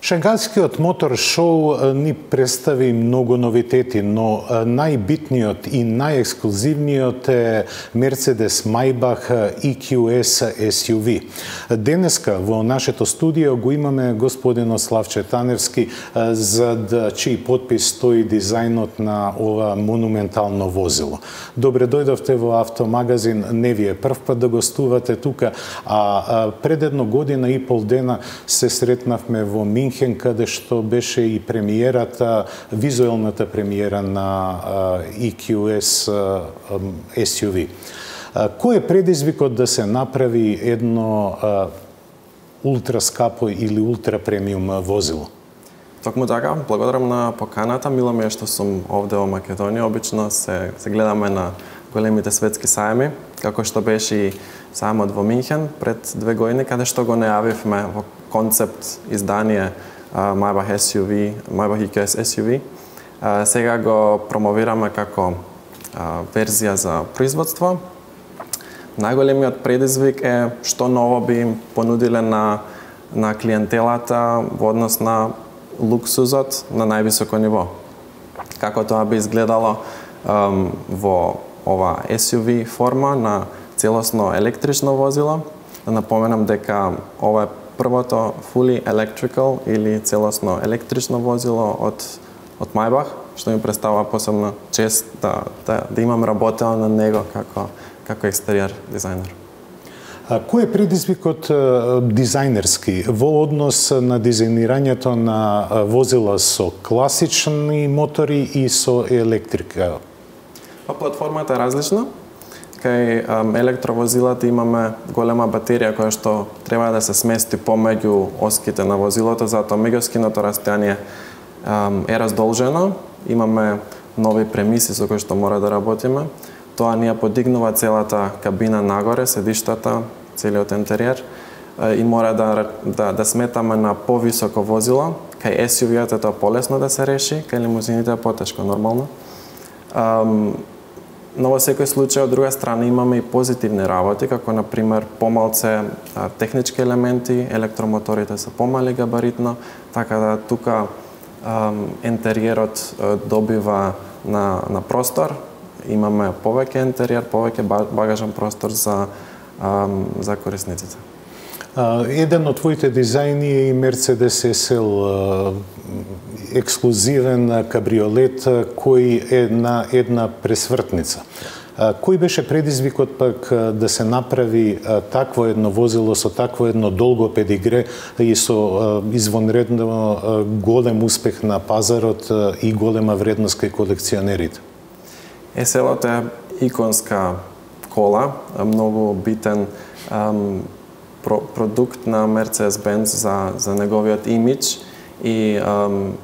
Шангајскиот мотор шоу ни представи многу новитети, но најбитниот и најексклузивниот е Mercedes Maybach EQS SUV. Денеска во нашето студио го имаме господинот Славче Таневски, зад чиј подпис стои дизајнот на ова монументално возило. Добре дојдовте во Автомагазин, не ви е прв пат да гостувате тука, а пред една година и пол дена се сретнавме во Минхен, каде што беше и премиерата, визуелната премиера на EQS SUV. Кој е предизвикот да се направи едно ултраскапо или ултрапремиум возило? Токму така, благодарам на поканата. Мило ми е што сум овде во Македонија. Обично се гледаме на големите светски сајми, како што беше и сајмот во Минхен пред 2 години, каде што го најавивме во концепт издание Maybach SUV, Maybach EQS SUV. Сега го промовираме како верзија за производство. Најголемиот предизвик е што ново би им понудиле на клиентелата во однос на луксузот на највисоко ниво. Како тоа би изгледало во ова SUV форма на целосно електрично возило. Да напоменам дека ова е првото fully electrical или целосно електрично возило од Maybach, што ми представува посебна чест да имам работел на него како екстериор дизајнер. Кој е предизвикот дизајнерски во однос на дизајнирањето на возила со класични мотори и со електрика? Платформата е различна. Кај електровозилата имаме голема батерија која што треба да се смести помеѓу оските на возилото, затоа меѓускиното растојание е раздолжено. Имаме нови премиси со кои што мора да работиме. Тоа ни ја подигнува целата кабина нагоре, седиштата, целиот интериер и мора да сметаме на повисоко возило. Кај SUV-ата тоа полесно да се реши, кај лимузините е потешко нормално. Но во секој случај, од друга страна, имаме и позитивни работи, како, например, помалце технички елементи, електромоторите се помали габаритно, така да тука интериерот добива на простор, имаме повеќе интериер, повеќе багажен простор за корисниците. Еден од твоите дизајни е и Mercedes SL, ексклузивен кабриолет кој е на една пресвртница. Кој беше предизвикот пак да се направи такво едно возило со такво едно долго педигре и со извонредно голем успех на пазарот и голема вредност кај колекционерите? SL-от е иконска кола, многу битен продукт на Mercedes-Benz за неговиот имидж и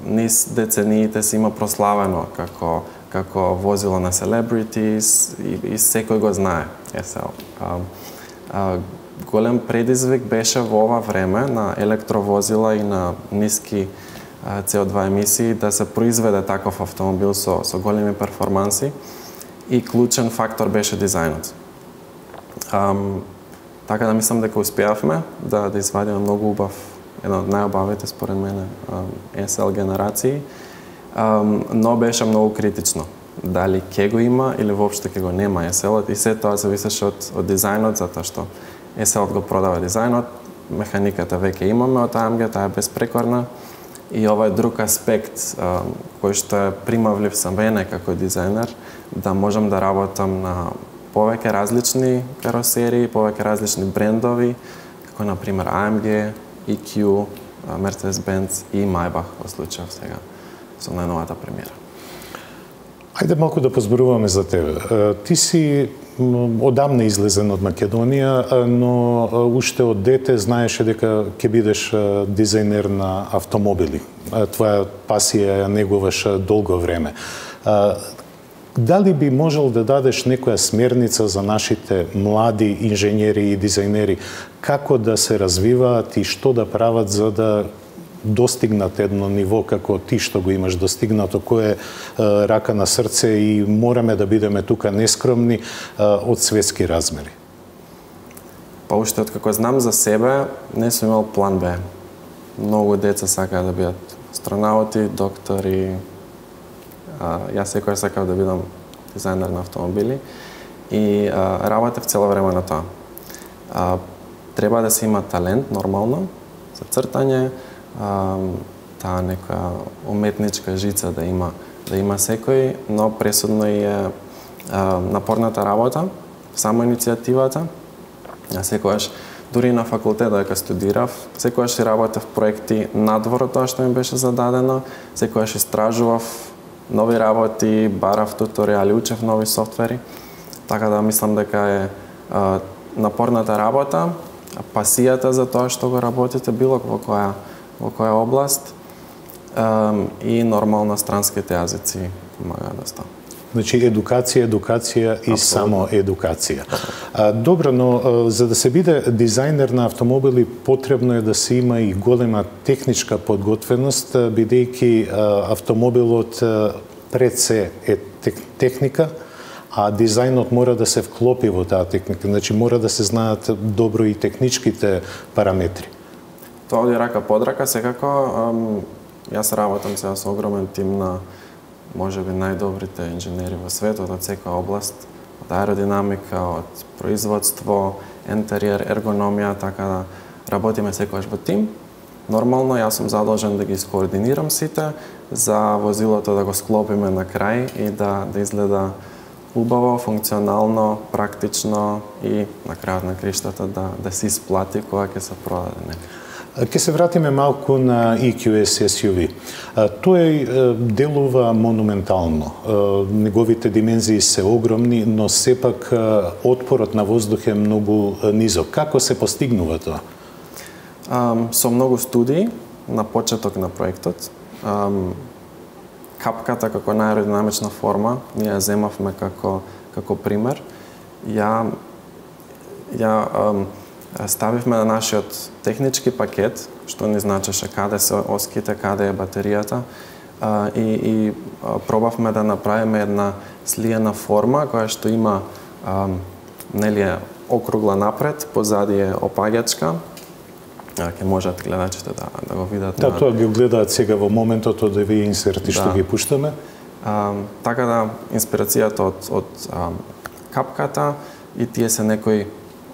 низ децениите се има прославено како возило на celebrities и секој го знае SL. Голем предизвик беше во ова време на електровозила и на ниски CO2 емисии да се произведе таков автомобил со големи перформанси и клучен фактор беше дизајнот. Така да мислам дека успеавме да извадиме многу убав, една од најубавите според мене SL генерации, но беше многу критично. Дали ќе го има или воопшто ќе го нема SL-от и се тоа зависеше од дизајнот, затоа што SL-от го продава дизајнот, механиката веќе имаме од AMG, таа е безпрекорна и ова е друг аспект кој што е примавлив за мене како дизајнер, да можам да работам на повеќе различни каросерии, повеќе различни брендови, како например AMG, EQ, Mercedes-Benz и Maybach во случајов сега со најновата премиера. Ајде малку да позборуваме за тебе. Ти си одамна излезен од Македонија, но уште од дете знаеше дека ќе бидеш дизајнер на автомобили. Твоја пасија ја негуваш долго време. Дали би можел да дадеш некоја смерница за нашите млади инженери и дизајнери како да се развиваат и што да прават за да достигнат едно ниво како ти што го имаш достигнато, кој е рака на срце и мораме да бидеме тука нескромни од светски размери? Па уште откако знам за себе, не сум имал план Б. многу деца сакаат да бидат астронаути, доктори. Јас секогаш сакав да бидам дизајнер на автомобили и работев цело време на тоа. Треба да се има талент, нормално, за цртање, таа нека уметничка жица да има секој, но пресудно е напорната работа, само иницијативата. Јас секогаш, дури на факултет додека студирав, секогаш си работев проекти надвор од тоа што ми беше зададено, секогаш истражував нови работи, барав туторијали, учев нови софтвери. Така да мислам дека е напорната работа, пасијата за тоа што го работите било во која област и нормално странските јазици помагаат доста. Значи, едукација и само едукација. Добро, но за да се биде дизајнер на автомобили, потребно е да се има и голема техничка подготвеност, бидејќи автомобилот пред се е техника, а дизајнот мора да се вклопи во таа техника. Значи, мора да се знаат добро и техничките параметри. Тоа оди рака под рака, секако. Јас работам сега со огромен тим на можеби најдобрите инженери во светот од секоја област, од аеродинамика, од производство, интериер, ергономија, така да работиме секогаш во тим. Нормално, јас сум задолжен да ги скоординирам сите, за возилото да го склопиме на крај и да изгледа убаво, функционално, практично и на крајот на криштата да се исплати кога ќе се продаде. Ке се вратиме малку на EQS SUV. Тој делува монументално. Неговите димензии се огромни, но сепак отпорот на воздух е многу низок. Како се постигнува тоа? Со многу студии на почеток на проектот. Капката како најаеродинамична форма, ние ја земавме како пример. Ја ставивме на нашиот технички пакет, што ни значеше каде се оските, каде е батеријата, и пробавме да направиме една слиена форма која што има нели округла напред, позади е опаѓачка. Ќе можат гледачите да го видат. Да, тоа ги гледаат сега во моментот од овие инсерти што ги пуштаме. Така да, инспирацијата од капката и тие се некои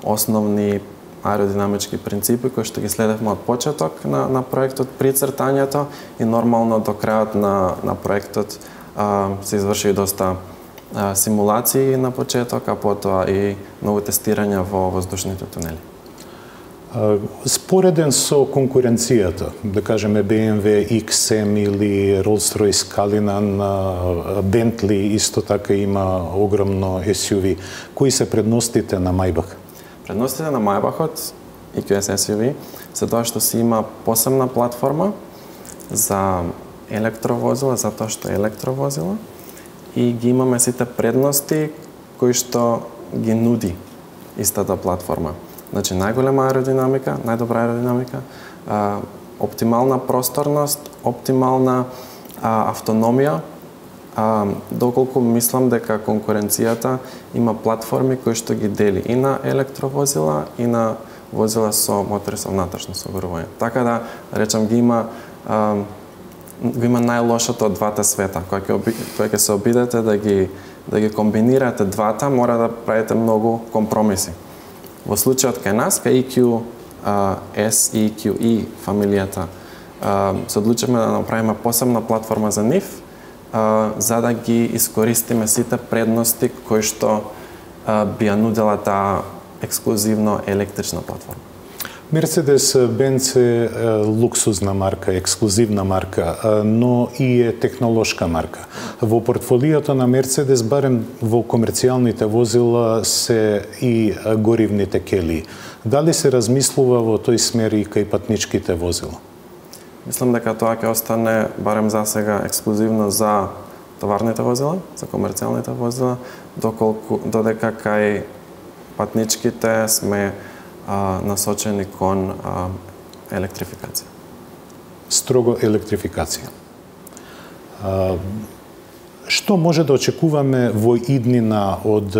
основни аеродинамички принципи кои што ги следевме од почеток на проектот при цртањето и нормално до крајот на проектот се изврши доста симулации на почеток, а потоа и многу тестирања во воздушните тунели. Спореден со конкуренцијата, да кажеме BMW XM или Rolls-Royce Cullinan, Bentley исто така има огромно SUV. Кои се предностите на Maybach? Предностите на Maybachот EQS SUV се тоа што си има посебна платформа за електровозила, затоа што е електровозила, и ги имаме сите предности кои што ги нуди истата платформа. Значи, најголема аеродинамика, најдобра аеродинамика, оптимална просторност, оптимална автономија, доколку мислам дека конкуренцијата има платформи кои што ги дели и на електровозила и на возила со мотори со внатрешно согорување. Така да, речам, ги има најлошото од двата света. Кога ќе се обидете да ги комбинирате двата, мора да правите многу компромиси. Во случајот кај нас, кај EQS и EQE фамилијата, се одлучивме да направиме посебна платформа за нив, за да ги искористиме сите предности кои што би ја нудела таа ексклузивно електрична платформа. Mercedes-Benz е луксузна марка, ексклузивна марка, но и е технолошка марка. Во портфолиото на Mercedes, барем во комерцијалните возила, се и горивните келии. Дали се размислува во тој смер и кај патничките возила? Мислам дека тоа ќе остане, барем за сега, ексклузивно за товарните возила, за комерцијалните возила, додека кај патничките сме насочени кон електрификација. Строго електрификација. Што може да очекуваме во иднина од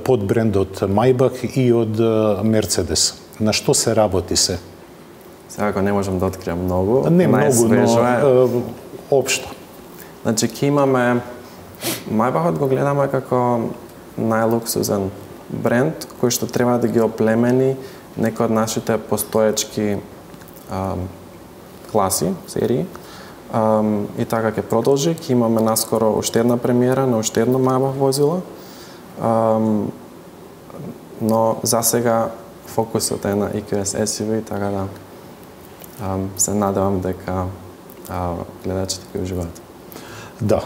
подбрендот Maybach и од Mercedes? На што се работи се? Сега не можам да откријам многу. Не многу, но општо. Значи, ќе имаме Maybachот го гледаме како најлуксузен бренд кој што треба да ги оплемени некои од нашите постоечки класи, серии. И така ќе продолжи. Ќе имаме наскоро уште една премиера на уште едно Maybach возило. Но за сега фокусот е на EQS SUV, така да се надевам дека гледачите ќе уживаат. Да,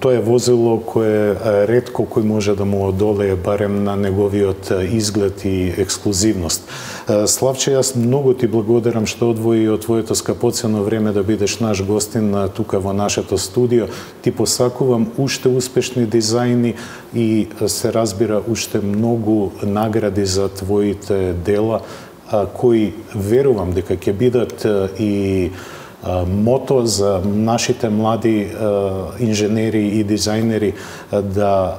тоа е возило кое ретко кој може да му одолее барем на неговиот изглед и ексклузивност. Славче, јас многу ти благодарам што одвои од твоето скапоцено време да бидеш наш гостин тука во нашето студио. Ти посакувам уште успешни дизајни и се разбира уште многу награди за твоите дела, кои верувам дека ќе бидат и мото за нашите млади инженери и дизајнери да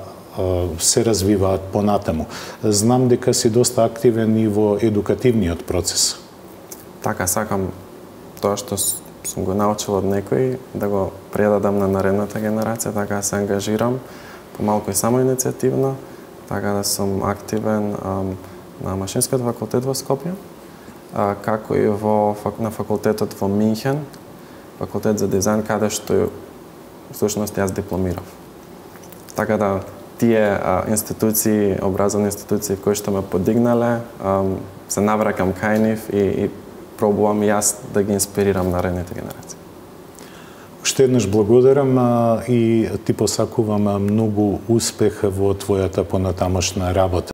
се развиваат понатаму. Знам дека си доста активен и во едукативниот процес. Така, сакам тоа што сум го научил од некој да го предадам на наредната генерација, така се ангажирам помалку и самоиницијативно, така да сум активен на Машинскиот факултет во Скопје, како и на факултетот во Минхен, факултет за дизајн, каде што всушност јас дипломирав. Така да тие институции, образовни институции кои што ме подигнале, се навракам кај нив и пробувам јас да ги инспирирам наредните генерации. Уште еднаш благодарам и ти посакувам многу успех во твојата понатамошна работа.